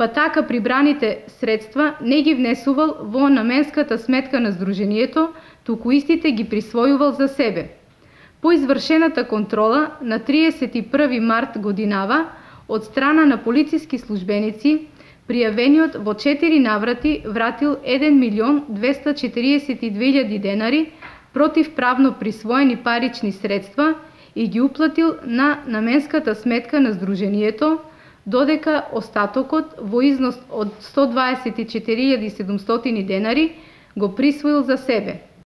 па така прибраните средства не ги внесувал во наменската сметка на Сдруженијето, туку истите ги присвојувал за себе. По извршената контрола на 31 март годинава од страна на полициски службеници, пријавениот во 4 наврати вратил 1.242.000 денари противправно присвоени парични средства и ги уплатил на наменската сметка на Сдруженијето, додека остатокот во износ од 124.700 денари го присвоил за себе.